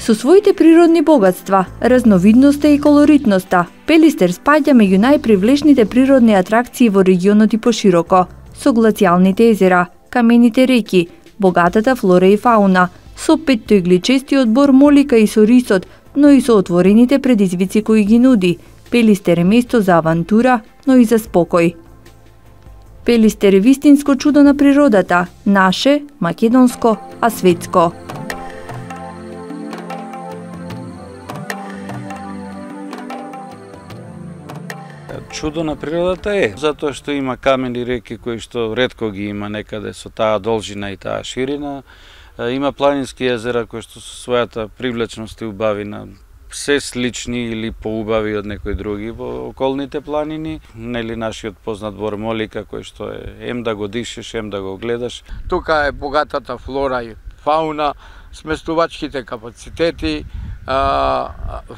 Со своите природни богатства, разновидноста и колоритноста, Пелистер спаѓа меѓу најпривлечните природни атракции во регионот и пошироко, со глацијалните езера, камените реки, богатата флора и фауна, со петтоигличестиот бор молика и со рисот, но и со отворените предизвици кои ги нуди. Пелистер е место за авантура, но и за спокој. Пелистер е вистинско чудо на природата, наше, македонско, а светско. Чудо на природата е, затоа што има камени реки кои што ретко ги има некаде со таа должина и таа ширина. Има планински езера кои што со својата привлечност и убавина се слични или поубави од некои други во околните планини. Нели нашиот познат бор молика кој што е ем да го дишеш, ем да го гледаш. Тука е богатата флора и фауна, сместувачките капацитети,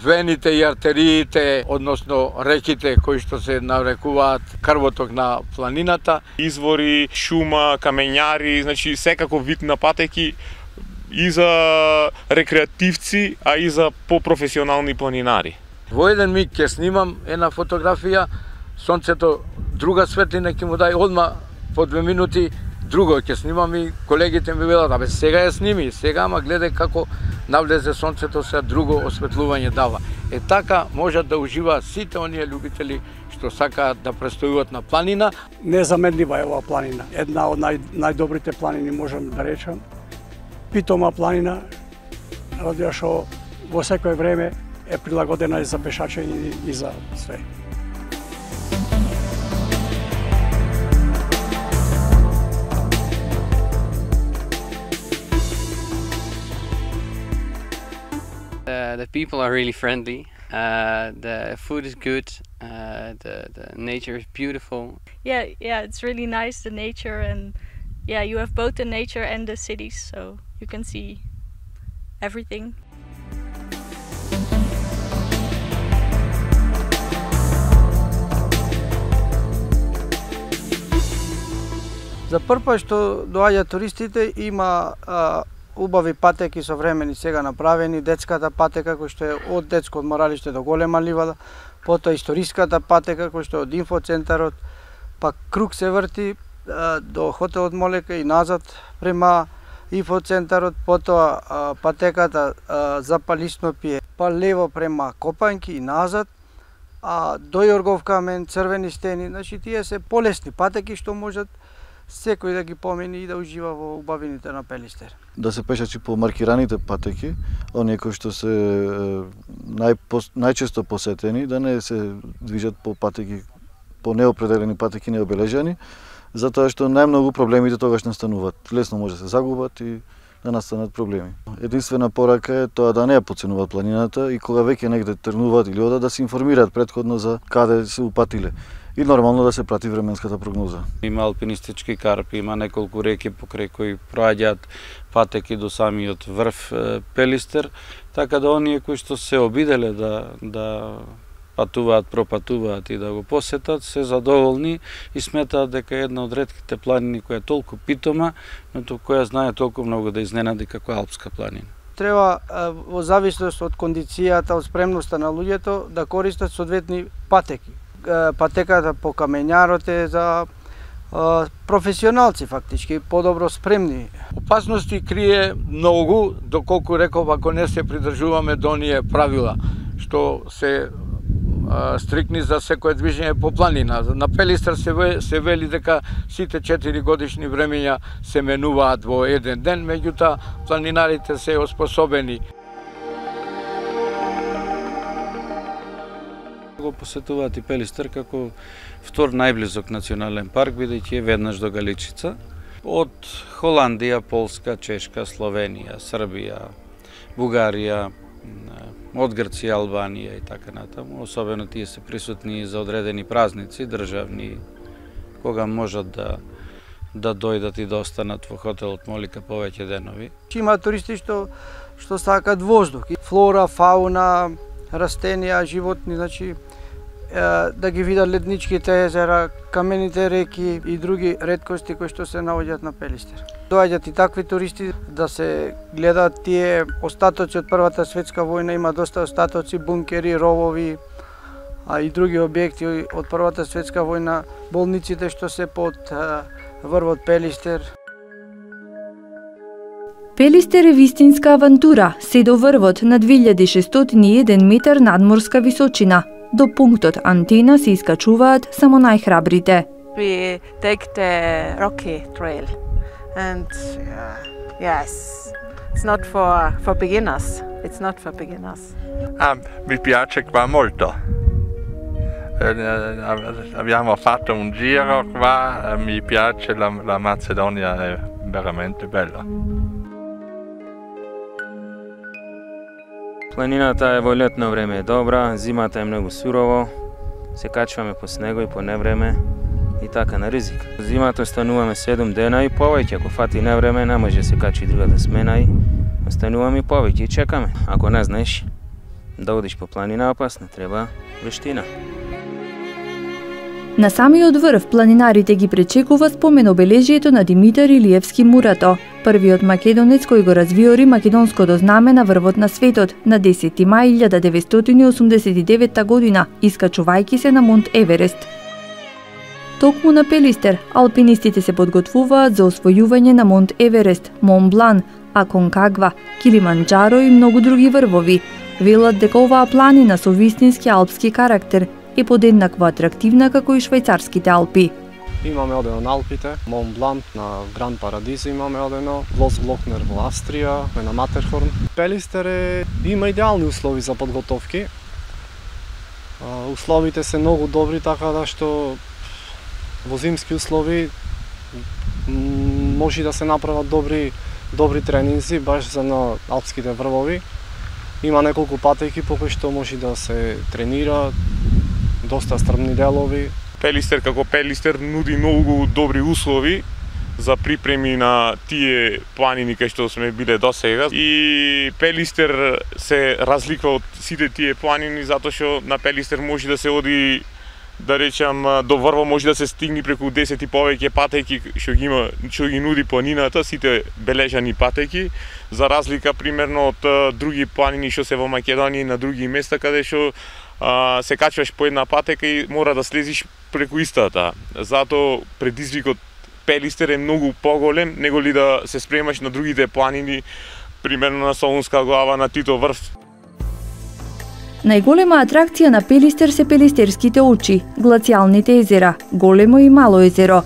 вените и артериите, односно реките кои што се нарекуваат крвоток на планината. Извори, шума, камењари, значи секаков вид на патеки и за рекреативци, а и за попрофесионални планинари. Во еден миг ќе снимам една фотографија, сонцето друга светлина ќе му дај одма по 2 минути, друго ќе снимам и колегите ми велат, абе сега ја сними, сега ама гледај како навлезе сонцето, се друго осветлување дава. Е така можат да уживаат сите оние љубители што сакаат да престојуват на планина. Незаменлива е оваа планина, една од најдобрите планини можам да речам. Питома планина, радија што во секое време е прилагодена и за пешачење и за све. The people are really friendly. The food is good. The nature is beautiful. Yeah, it's really nice, the nature, and yeah, you have both the nature and the cities, so you can see everything. За прв пат што доаѓаат туристите има убави патеки современи сега направени, детската патека кој што е од детско одморалиште до голема ливада, потоа историската патека кој што е од инфоцентарот, па круг се врти до хотелот Молека и назад према инфоцентарот, потоа патеката за Палиснопие, па лево према Копањки и назад, до Јоргов камен, црвени стени, значи тие се полесни патеки што можат секој да ги помени и да ужива во убавините на Пелистер. Да се пешачи по маркираните патеки, оние кои што се најчесто посетени, да не се движат по патеки, по неопределени патеки, необележани, затоа што најмногу проблемите тогаш настануваат. Лесно може да се загубат и да настанат проблеми. Единствена порака е тоа да не ја потценуваат планината и кога веќе негде тргнуваат или одат да се информираат претходно за каде се упатиле. И нормално да се прати временската прогноза. Има алпинистички карпи, има неколку реки покрај кои проаѓаат патеки до самиот врв Пелистер, така да оние кои што се обиделе да патуваат, пропатуваат и да го посетат, се задоволни и сметаат дека е една од ретките планини која е толку питома, но која знае толку многу да изненади како алпска планина. Треба во зависност од кондицијата, од спремноста на луѓето да користат соодветни патеки. Патеката по камењарот е за професионалци фактички, подобро спремни. Опасности крие многу, доколку реков, ако не се придржуваме до оние правила, што се стрикни за секое движење по планина. На Пелистер се вели дека сите 4 годишни времења се менуваат во еден ден, меѓутоа планинарите се оспособени. Го посетуваат и Пелистер како втор најблизок национален парк, бидејќи е веднаш до Галичица. Од Холандија, Полска, Чешка, Словенија, Србија, Бугарија, од Грција, Албанија и така натаму. Особено тие се присутни за одредени празници државни, кога можат да дојдат и да останат во хотелот Молика повеќе денови. Има туристи што сакаат воздух, флора, фауна, растенија, животни, значи да ги видат ледничките езера, камените реки и други реткости кои што се наоѓаат на Пелистер. Доаѓаат и такви туристи да се гледаат тие остатоци од Првата светска војна, има доста остатоци, бункери, ровови, а и други објекти од Првата светска војна, болниците што се под врвот Пелистер. Пелистер е вистинска авантура, се до врвот на 2601 метар надморска височина. До пунктот Антена се искачуваат само најхрабрите. We take the Rocky Trail and yes, it's not for beginners. It's not for beginners. Mi piace qua molto. Abbiamo fatto un giro qua, mi piace, la Macedonia è veramente bella. Планината е во летно време е добра, зимата е многу сурово, се качваме по снего и по невреме и така на ризик. Зимата остануваме 7 дена и повеќе, ако фати невреме, не може се качи другата смена и остануваме и повеќе и чекаме. Ако не знаеш да одиш по планина опасно, треба вештина. На самиот врв планинарите ги пречекува спомен обележието на Димитар Илиевски Мурато, првиот македонец кој го развиори македонското знаме на врвот на светот на 10 мај 1989 година, искачувајќи се на Монт Еверест. Токму на Пелистер, алпинистите се подготвуваат за освојување на Монт Еверест, Монблан, Аконкагва, Килиманџаро и многу други врвови. Велат дека оваа планина со вистински алпски карактер е подеднакво атрактивна како и швајцарските Алпи. Имаме одено на Алпите, Мон Блант на Гран Парадизо имаме одено, Лос Глокнер во Австрија, на Матерхорн. Пелистер има идеални услови за подготовки. Условите се многу добри, така да што во зимски услови може да се направат добри тренинзи баш за на алпските врвови. Има неколку патеки по кои што може да се тренира, доста стрмни делови. Пелистер како Пелистер нуди многу добри услови за припреми на тие планини кај што сме биле досега. И Пелистер се разликува од сите тие планини затоа што на Пелистер може да се оди, да речам, до врво може да се стигне преку 10 и повеќе патеки што ги нуди планината, сите бележани патеки, за разлика примерно од други планини што се во Македонија и на други места каде што се качваш по една патека и мора да слезиш преку истата. Затоа предизвикот Пелистер е многу поголем него ли да се спремаш на другите планини, примерно на Солунска глава, на Тито врв. Најголема атракција на Пелистер се Пелистерските очи, глацијалните езера, Големо и Мало езеро.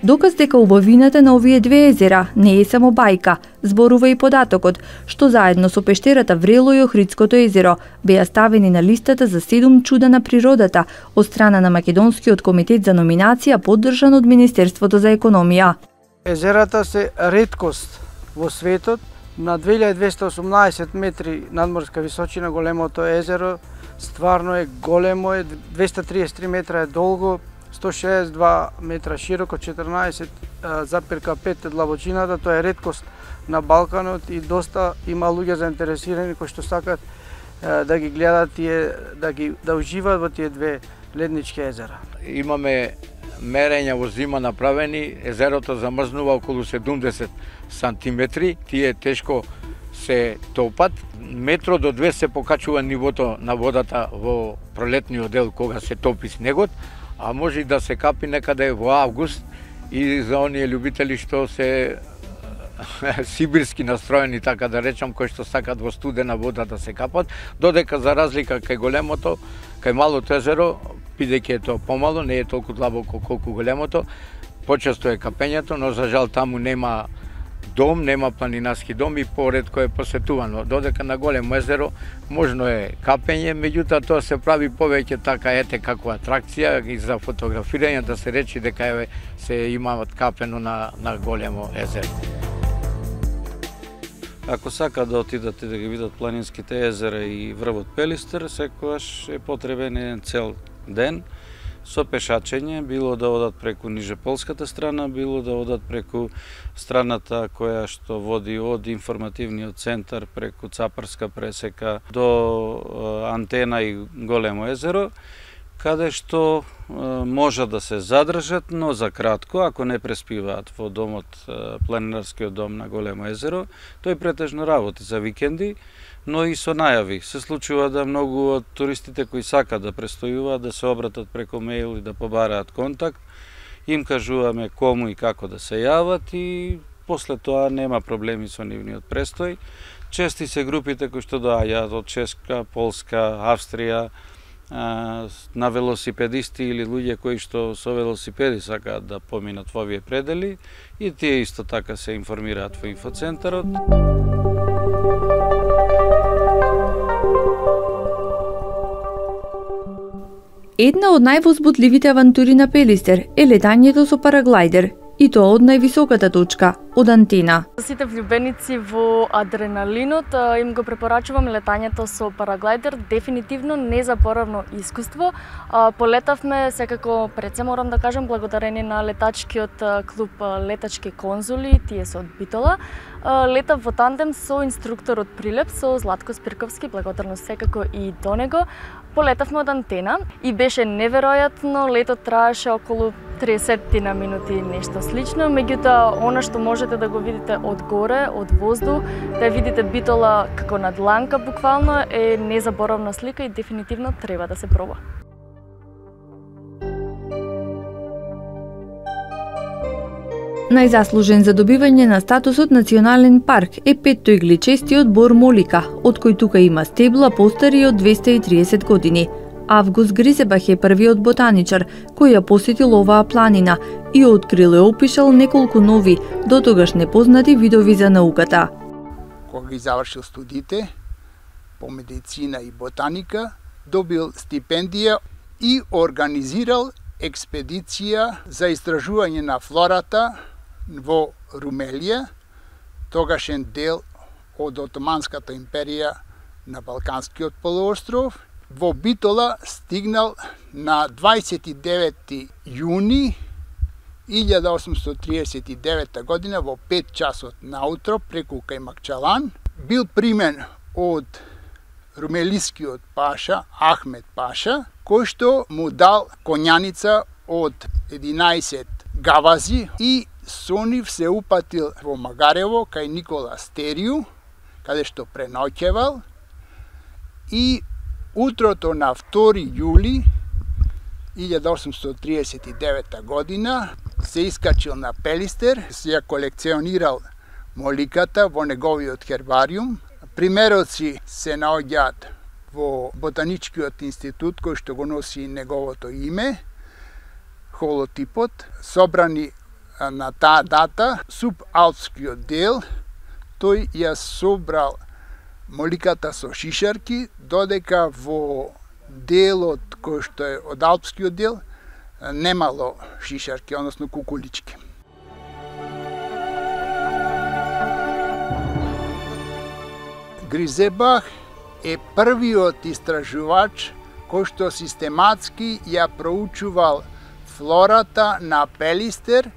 Доказ дека убавината на овие две езера не е само бајка, зборува и податокот, што заедно со пештерата Врело и Охридското езеро беа ставени на листата за 7 чуда на природата од страна на Македонскиот комитет за номинација поддржан од Министерството за економија. Езерата се реткост во светот. На 2218 метри надморска височина големото езеро стварно е големо, 233 метра е долго, 162 метра широко, 14,5 длабочината. Тоа е реткост на Балканот и доста има луѓе заинтересирани кои што сакат да ги гледат да уживаат во тие две леднички езера. Имаме мерења во зима направени, езерото замрзнува околу 70 сантиметри, тие тешко се топат. Метро до 2 се покачува нивото на водата во пролетниот дел кога се топи снегот, а може и да се капи некаде во август и за оние љубители што се сибирски настроени, така да речам, кои што сакат во студена вода да се капат, додека за разлика кај големото, кај малото езеро, бидејќи е тоа помало, не е толку длабоко колку големото, почесто е капењето, но за жал таму нема дом, нема планинарски дом и поретко е посетувано. Додека на големо езеро можно е капење, меѓутоа тоа се прави повеќе така ете како атракција и за фотографирање, да се речи дека се имаат капено на големо езеро. Ако сакаат да отидат и да ги видат планинските езера и врвот Пелистер, секогаш е потребен еден цел ден со пешачење, било да одат преку нижеполската страна, било да одат преку страната која што води од информативниот центар преку Цапарска пресека до Антена и Големо езеро, каде што може да се задржат, но за кратко, ако не преспиваат во домот, планинарскиот дом на Големо езеро, тој претежно работи за викенди, но и со најави. Се случува да многу од туристите кои сакаат да престојуваат, да се обратат преко мејл и да побараат контакт, им кажуваме кому и како да се јават и после тоа нема проблеми со нивниот престој. Чести се групите кои што доаѓаат од Чешка, Полска, Австрија, на велосипедисти или луѓе кои што со велосипеди сакаат да поминат во овие предели и тие исто така се информираат во инфоцентарот. Една од највозбудливите авантури на Пелистер е летањето со параглајдер, и тоа од највисоката точка, од Антена. Сите влюбеници во адреналинот им го препорачувам летањето со параглајдер, дефинитивно незаборавно искуство. Полетавме, секако пред се морам да кажам, благодарение на летачкиот клуб Летачки конзули, тие се од Битола. Летав во тандем со инструктор од Прилеп, со Златко Спирковски, благодарност секако и до него. Полетавме од Антена и беше неверојатно, летот траеше околу 30 на минути, нешто слично, меѓутоа она што можете да го видите од горе, од воздух, да видите Битола како на дланка буквално, е незаборавна слика и дефинитивно треба да се проба. Најзаслужен за добивање на статусот национален парк е петтоигличестиот бор Молика, од кој тука има стебла постари од 230 години. Август Гризебах е првиот ботаничар кој ја посетил оваа планина и открил и опишал неколку нови, дотогаш непознати видови за науката. Кога ги завршил студиите по медицина и ботаника, добил стипендија и организирал експедиција за истражување на флората во Румелија, тогашен дел од Отоманската империја на Балканскиот полуостров. Во Битола стигнал на 29 јуни 1839 година во 5 часот наутро преку Кајмакчалан. Бил примен од румелискиот паша Ахмед Паша, кој што му дал конјаница од 11 гавази и со нив се упатил во Магарево кај Никола Стерију, каде што преноќевал, и утрото на 2 јули 1839 година се искачил на Пелистер, се ја колекционирал моликата во неговиот хербариум. Примероци се наоѓаат во Ботаничкиот институт кој што го носи неговото име, холотипот, собрани на таа дата, субалпскиот дел, тој ја собрал моликата со шишарки, додека во делот кој што е од алпскиот дел немало шишарки, односно кукулички. Гризебах е првиот истражувач кој што систематски ја проучувал флората на Пелистер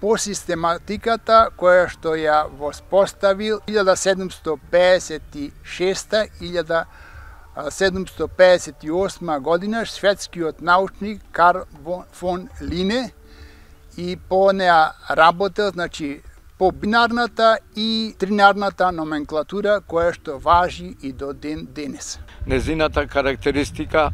по систематиката која што ја воспоставил 1756-1758 година шведскиот научник Карл фон Лине, и по неа работел, значи, по бинарната и тринарната номенклатура која што важи и до ден денес. Незината карактеристика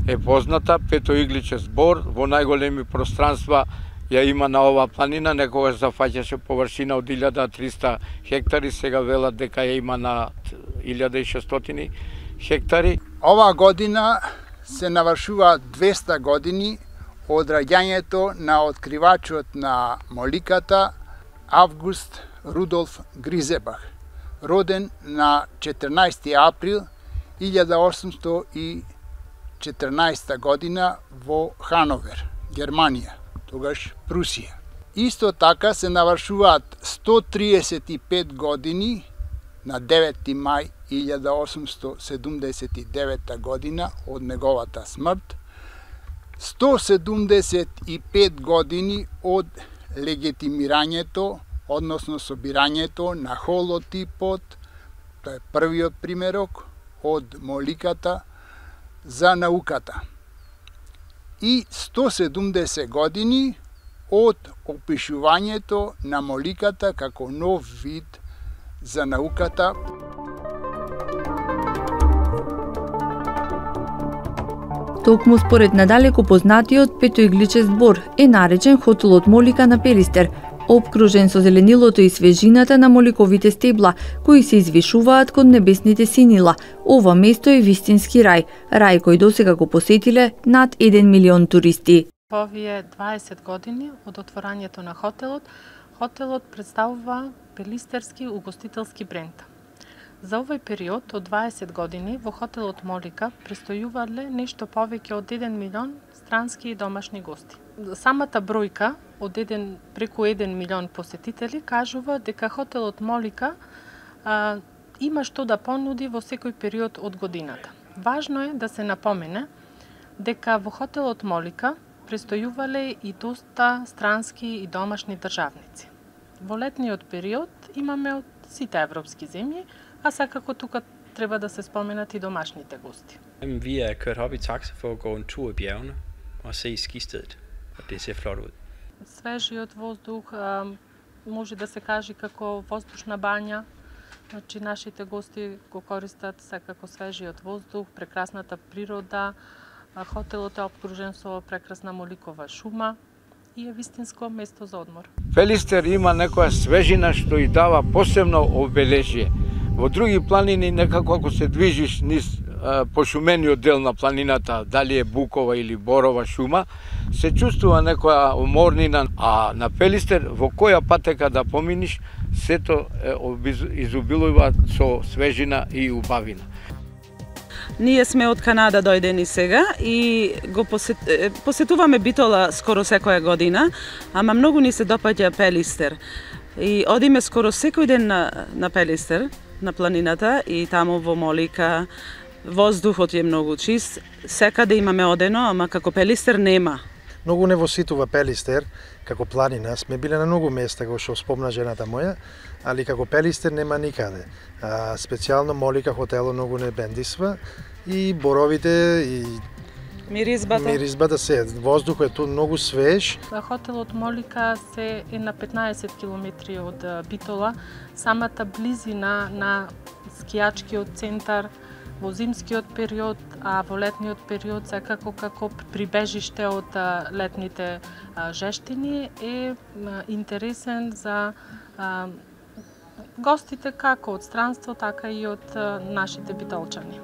е позната, петоигличест бор во најголеми пространства ја има на оваа планина, некогаш зафаќаше површина од 1300 хектари, сега велат дека ја има на 1600 хектари. Оваа година се навршуваат 200 години од раѓањето на откривачот на моликата Август Рудолф Гризебах, роден на 14 април 1814 година во Хановер, Германија, тогаш Прусија. Исто така се навршуваат 135 години на 9 мај 1879 година од неговата смрт, 175 години од легитимирањето, односно собирањето на холотипот, тоа е првиот примерок од моликата за науката. и 170 години од опишувањето на моликата како нов вид за науката. Токму според надалеку познатиот петоигличест збор е наречен хотелот Молика на Пелистер, опкружен со зеленилото и свежината на моликовите стебла, кои се извишуваат кон небесните синила. Ова место е вистински рај кој досега го посетиле над 1 милион туристи. Во овие 20 години од отворањето на хотелот представува пелистерски угостителски бренд. За овој период од 20 години во хотелот Молика престојувале нешто повеќе од 1 милион странски и домашни гости. Самата бројка од преку 1 милион посетители кажува дека хотелот Молика има што да понуди во секој период од годината. Важно е да се напомене дека во хотелот Молика престојувале и доста странски и домашни државници. Во летниот период имаме од сите европски земји, а секако тука треба да се споменат и домашните гости. Vi er kørt op i taxa for at gå en tur i bjergene og se skistedet, og det ser flot ud. Свежиот воздух може да се каже како воздушна бања. Значи нашите гости го користат секако свежиот воздух, прекрасната природа. Хотелот е опкружен со прекрасна моликова шума и е вистинско место за одмор. Пелистер има некоја свежина што и дава посебно обележје. Во други планини некако ако се движиш низ пошумениот дел на планината, дали е букова или борова шума, се чувствува некоја уморнина, а на Пелистер во која патека да поминиш, сето изобилува со свежина и убавина. Ние сме од Канада дојдени сега и го посетуваме Битола скоро секоја година, ама многу ни се допаѓа Пелистер. И одиме скоро секој ден на Пелистер, на планината, и таму во Молика воздухот е многу чист. Секаде имаме одено, ама како Пелистер нема. Многу не воситува Пелистер како планина. Сме биле на многу места, како што спомна жената моја, али како Пелистер нема никаде. Специјално Молика хотело многу не бендисва и боровите и миризбата се, воздухот е тут многу свеж. Хотелот Молика се е на 15 километри од Битола. Самата близина на скијачкиот центар во зимскиот период, а во летниот период секако како прибежиште од летните жештини е интересен за гостите како од странство, така и од нашите битолчани.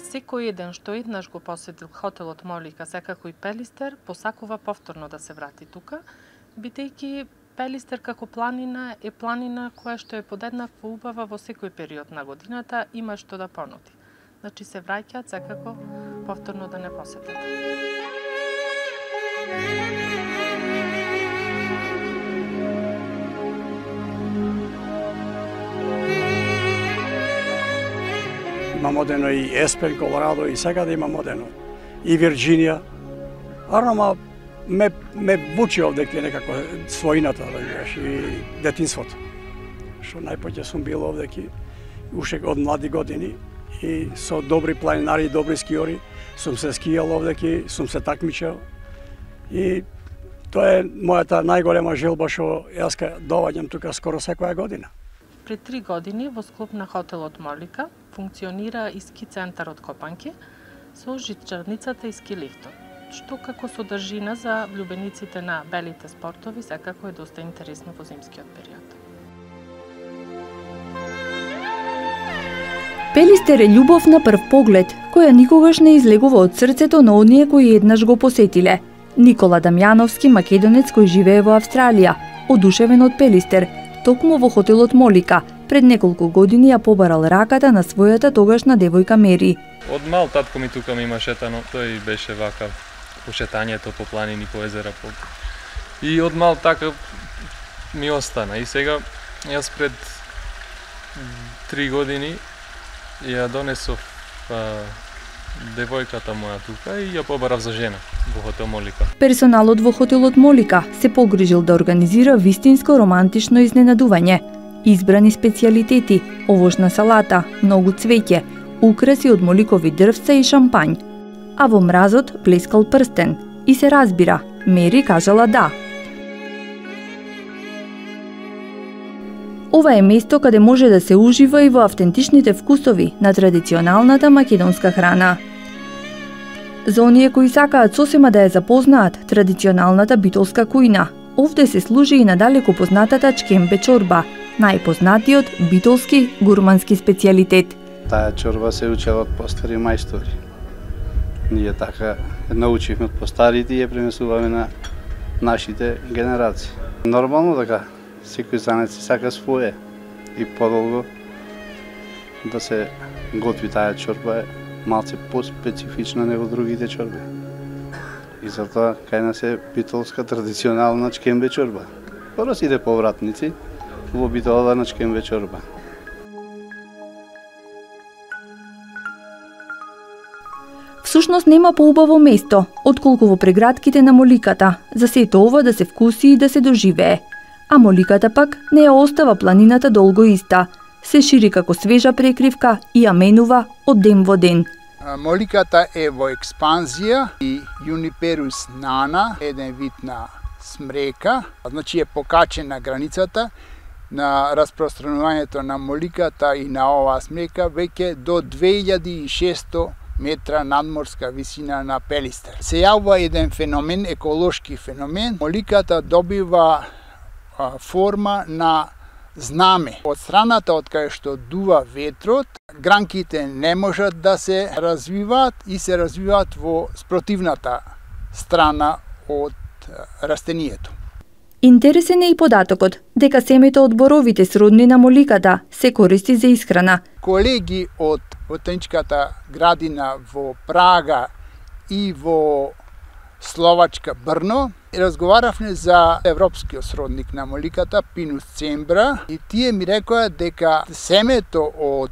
Секој еден што еднаш го посетил хотелот Молика, секако и Пелистер, посакува повторно да се врати тука, бидејќи Пелистер како планина е планина која што е подеднакво убава во секој период на годината, има што да понуди. Значи се враќаат секако повторно да не посетат. Има модено и Еспен, Колорадо, и сега да има модено. И Вирджинија. Арно, ме вучи овдеке некако својината, да видиш, и детинството. Што најпоќе сум бил овдеке, уште од млади години, и со добри планинари и добри скиори, сум се скијал овдеке, сум се такмичал. И тоа е мојата најголема желба што јас доваѓам тука скоро секоја година. Пред 3 години во склоп на хотелот Молика функционира и ски центарот Копанки со жичарницата и ски лифтот, што како содржина за влюбениците на белите спортови секако е доста интересно во зимскиот период. Пелистер е љубов на прв поглед, која никогаш не излегува од срцето на оние кои еднаш го посетиле. Никола Дамјановски, македонец кој живее во Австралија, одушевен од Пелистер, токму во хотелот Молика, пред неколку години ја побарал раката на својата тогашна девојка Мери. Од мал татко ми тука ми има шетано, тој беше вакав по шетањето по планини, по езера. И од мал така ми остана. И сега, јас пред 3 години ја донесов девојката моја тука и ја побарав за жена во хотел Молика. Персоналот во хотелот Молика се погрижил да организира вистинско романтично изненадување. Избрани специјалитети, овошна салата, многу цвеќе, украси од моликови дрвца и шампањ. А во мразот блескал прстен и се разбира, Мери кажала да. Ова е место каде може да се ужива и во автентичните вкусови на традиционалната македонска храна. За оние кои сакаат сосема да ја запознаат традиционалната битолска кујна, овде се служи и надалеку познатата чкембе чорба, најпознатиот битолски гурмански специјалитет. Таа чорба се учела од постари мајстори. Ние така научивме од постарите и ја пренесуваме на нашите генерации. Нормално така, секој занет си сака своје и подолго да се готви таа чорба е малце по-специфична него другите чорби. И затоа кај нас е битолска традиционална чкембе чорба. Скоро сите повратници во Битола на чкембе чорба. Всушност нема поубаво место, отколку во прегратките на Моликата, за сето ова да се вкуси и да се доживее. А Моликата пак не ја остава планината долго иста. Се шири како свежа прекривка и ја менува од ден во ден. Моликата е во експанзија и Juniperus nana, еден вид на смрека, значи е покачена границата на распространувањето на моликата и на оваа смрека веќе до 2600 метра надморска висина на Пелистер. Се јавува еден феномен, еколошки феномен. Моликата добива форма на знаме. Од страната од кај што дува ветрот, гранките не можат да се развиваат и се развиваат во спротивната страна од растението. Интересен е и податокот дека семето од боровите сродни на моликата се користи за исхрана. Колеги од ботаничката градина во Прага и во Словачка Брно разговаравме за европскиот сродник на моликата Pinus cembra и тие ми рекоа дека семето од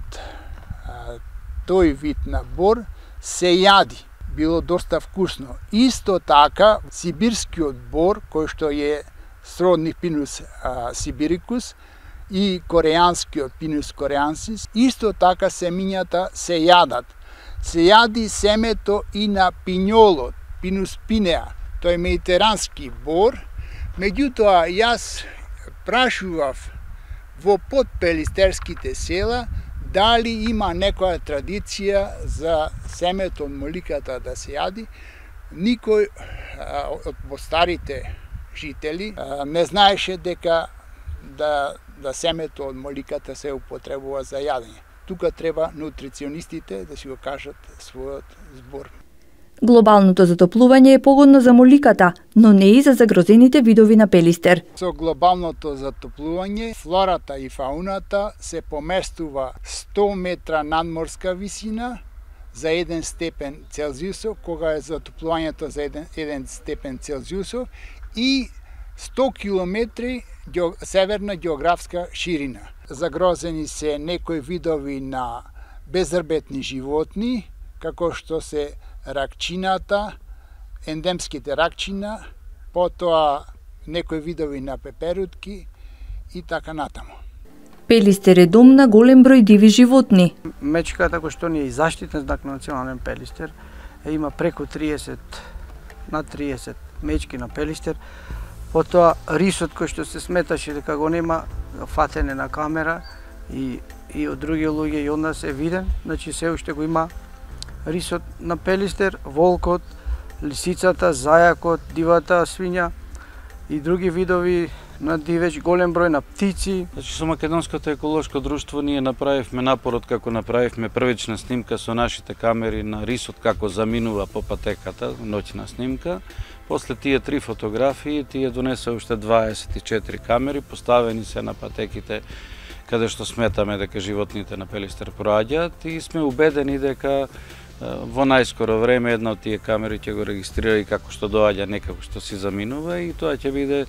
тој вид на бор се јади. Било доста вкусно. Исто така сибирскиот бор кој што е сродник Pinus sibiricus и кореанскиот Pinus coreensis, исто така семињата се јадат. Се јади семето и на пинјолот, Pinus pinea, тој е медитерански бор. Меѓутоа, јас прашував во подпелистерските села дали има некоја традиција за семето од моликата да се јади. Никој од старите жители не знаеше дека да семето од моликата се употребува за јадење. Тука треба нутриционистите да си го кажат својот збор. Глобалното затоплување е погодно за моликата, но не и за загрозените видови на Пелистер. Со глобалното затоплување, флората и фауната се поместува 100 метра надморска висина за 1 степен Целзиусов, кога е затоплувањето за 1 степен Целзиусов и 100 километри северна географска ширина. Загрозени се некои видови на безрбетни животни, како што се ракчината, ендемските ракчина, потоа некои видови на пеперутки и така натаму. Пелистер е дом на голем број диви животни. Мечката кој што ни е и заштитен знак на национален Пелистер, има преку 30 мечки на Пелистер. Потоа рисот кој што се сметаше дека го нема фатене на камера и од други луѓе и од нас е виден, значи се уште го има рисот на Пелистер, волкот, лисицата, зајакот, дивата свиња и други видови на дивеч, голем број на птици. Значи со Македонското еколошко друштво ние направивме напорот како направивме првична снимка со нашите камери на рисот како заминува по патеката, ноќна снимка. После тие 3 фотографии, тие донесе уште 24 камери, поставени се на патеките каде што сметаме дека животните на Пелистер проаѓаат и сме убедени дека во најскоро време една од тие камери ќе го регистрира и како што доаѓа, не како што си заминува и тоа ќе биде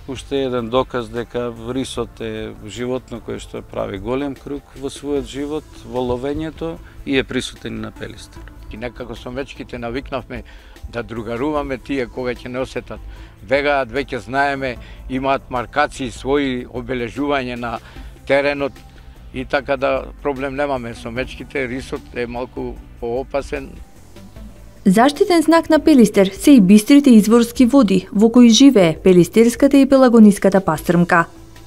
уште еден доказ дека рисот е животно кое што прави голем круг во својот живот, во ловењето и е присутен на Пелистер. И некако со мечките навикнавме да другаруваме тие кога ќе не осетат. Бегаат, веќе знаеме, имаат маркации, своји обележување на теренот и така да проблем немаме со мечките. Рисот е малку поопасен. Заштитен знак на Пелистер се и бистрите изворски води во кои живее пелистерската и пелагониската пастрмка.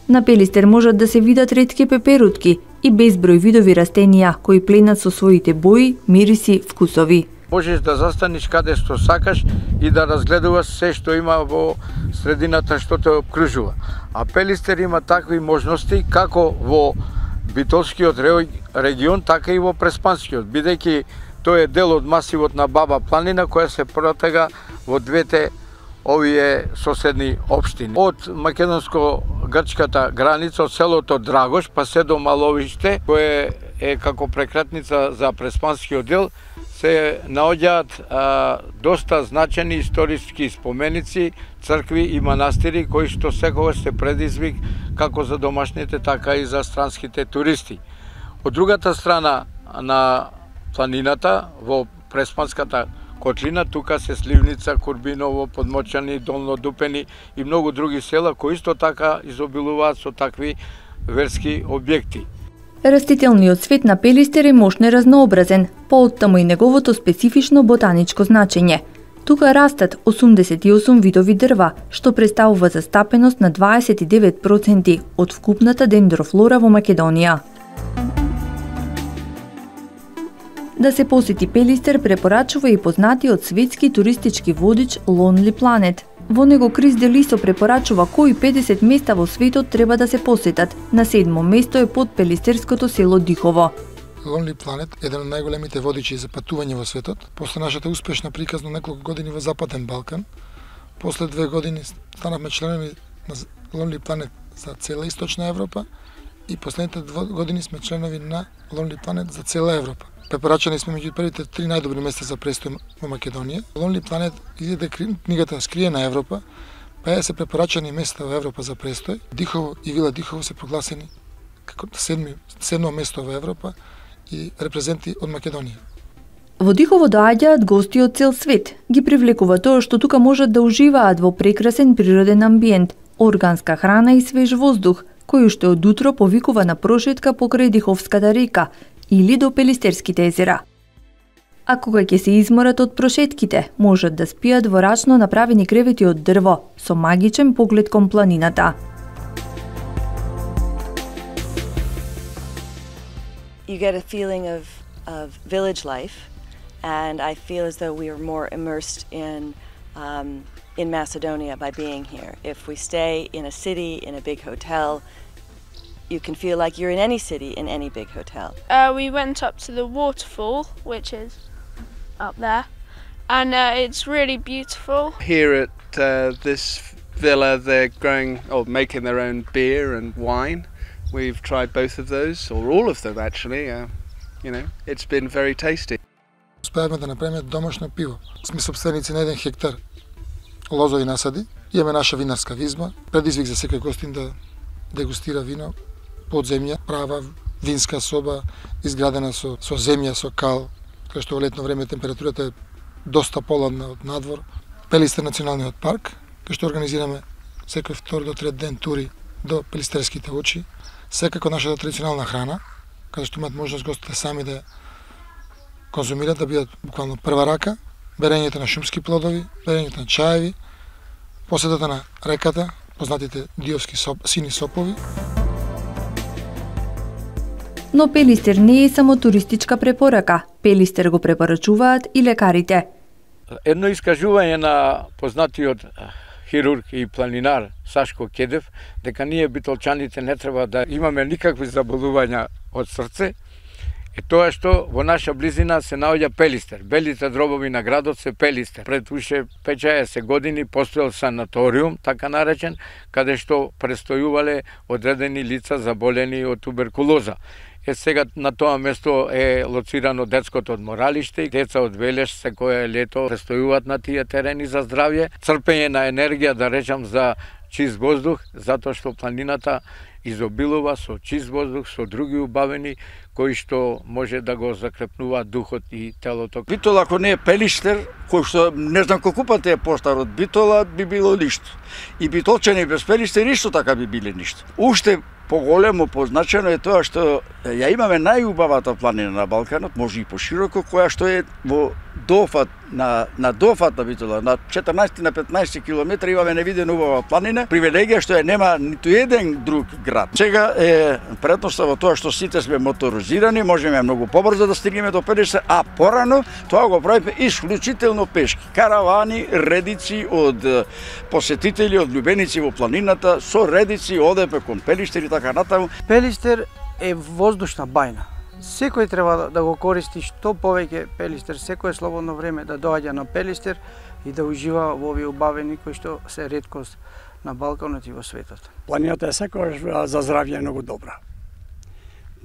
На Пелистер можат да се видат ретки пеперутки и безброј видови растенија кои пленат со своите бои, мириси, вкусови. Можеш да застаниш каде што сакаш и да разгледуваш се што има во средината што те обкружува. А Пелистер има такви можности како во Битолскиот регион, така и во Преспанскиот, бидејќи тој е дел од масивот на Баба планина која се протега во двете овие соседни општини. Од македонско-грчката граница, од селото Драгош, па се до Маловиште, кое е како прекратница за Преспанскиот дел, се наоѓаат доста значени историски споменици, цркви и манастири кои што секогаш се предизвик како за домашните, така и за странските туристи. Од другата страна на планината, во Преспанската котлина, тука се Сливница, Курбиново, Подмочани, Долно Дупени и многу други села кои исто така изобилуваат со такви верски објекти. Растителниот свет на Пелистер е мощно разнообразен, пооттаму и неговото специфично ботаничко значење. Тука растат 88 видови дрва, што представува застапеност на 29% од вкупната дендрофлора во Македонија. Да се посети Пелистер препорачува и познатиот светски туристички водич Lonely Planet. Во него Крис Делисо препорачува кои 50 места во светот треба да се посетат. На 7-мо место е под пелистерското село Дихово. Lonely Planet е еден од најголемите водичи за патување во светот. После нашата успешна приказна неколку години во Западен Балкан, после 2 години станавме членови на Lonely Planet за цела Источна Европа и последните 2 години сме членови на Lonely Planet за цела Европа. Препорачани сме меѓу првите 3 најдобри места за престој во Македонија. Lonely Planet издаде книгата Скриена Европа, па се препорачани места во Европа за престој. Дихово и Вила Дихово се прогласени како седмо место во Европа и репрезенти од Македонија. Во Дихово доаѓаат гости од цел свет. Ги привлекува тоа што тука можат да уживаат во прекрасен природен амбиент, органска храна и свеж воздух, кој уште од утро повикува на прошетка покрај Диховската река или до Пелистерските езера. А кога ќе се изморат од прошетките, можат да спијат во рачно направени кревети од дрво, со магичен поглед кон планината. You get a feeling of village life, and I feel as though we are more immersed in Macedonia by being here. If we stay in a city, in a big hotel, you can feel like you're in any city, in any big hotel. We went up to the waterfall, which is up there, and it's really beautiful. Here at this villa, they're growing or making their own beer and wine. We've tried both of those, or all of them actually. You know, it's been very tasty. Успеавме да направиме домашно пиво. Сме собственици на 1 хектар лозови насади. Имаме наша винарска визма. Предизвик за секој гостин да дегустира вино под земја, права винска соба изградена со земја, со кал, кај што во летно време температурата е доста поладна од надвор. Пелистер националниот парк, кај што организираме секој втор до трет ден тури до Пелистерските очи. Секако нашата традиционална храна, каде што имаат можност гостите сами да конзумират, да бидат буквално прва рака, берењето на шумски плодови, берењето на чаеви, посетата на реката, познатите диовски сини сопови. Но Пелистер не е само туристичка препорака. Пелистер го препорачуваат и лекарите. Едно искажување на познатиот хирург и планинар Сашко Кедев, дека ние битолчаните не треба да имаме никакви заболувања од срце, е тоа што во наша близина се наоѓа Пелистер. Белите дробови на градот се Пелистер. Пред уште 50 години постоел санаториум, така наречен, каде што престојувале одредени лица заболени од туберкулоза. Сега на тоа место е лоцирано детското одморалиште. Деца од Велеш секое лето престојуваат на тие терени за здравје. Црпење на енергија, да речам, за чист воздух, затоа што планината изобилува со чист воздух, со други убавени кои што може да го закрепнува духот и телото. Битола ако не е Пелиштер, кој што не знам колку пати е постар од Битола, би било ништо. И Битолчани без Пелиштер исто така би биле ништо. Уште поголемо позначено е тоа што ја имаме најубавата планина на Балканот, може и пошироко, која што е во дофат на дофат на Битола, на 14 на 15 километри имаме невидена убава планина, привилегија што ја нема ниту еден друг град. Сега е предноста во тоа што сите сме моторизирани, можеме многу побрзо да стигнеме до Пелиштер, а порано тоа го правиме исклучително пешки. Каравани, редици од посетители, од љубеници во планината, со редици одеме кон Пелиштер и така натаму. Пелиштер е воздушна бајна. Секој треба да го користи што повеќе Пелиштер, секое слободно време да доаѓа на Пелиштер и да ужива во овие убавени кои што се реткост на Балканот и во светот. Планината е секогаш за здравје многу добра.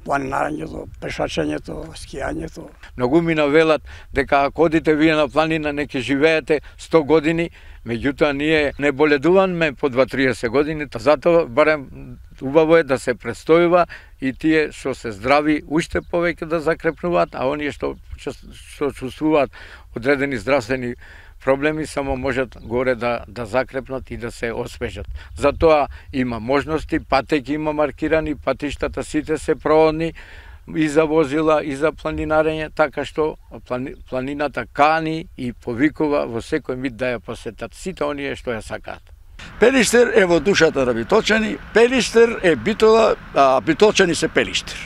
Планинарењето, пешачењето, скијањето. Многу ми навелат дека ако одите вие на планина не ќе живеете 100 години, меѓутоа ние не боледуваме по 2-30 години, затоа барем убаво е да се престојува и тие што се здрави уште повеќе да закрепнуваат, а оние што чувствуваат одредени здравствени проблеми само можат горе да закрепнат и да се освежат. Затоа има можности, патеки има маркирани, патиштата сите се проводни и за возила, и за планинарење, така што планината кани и повикува во секој миг да ја посетат сите оние што ја сакаат. Пелиштер е во душата на Битолчани, Пелиштер е Битола, а Битолчани се Пелиштер.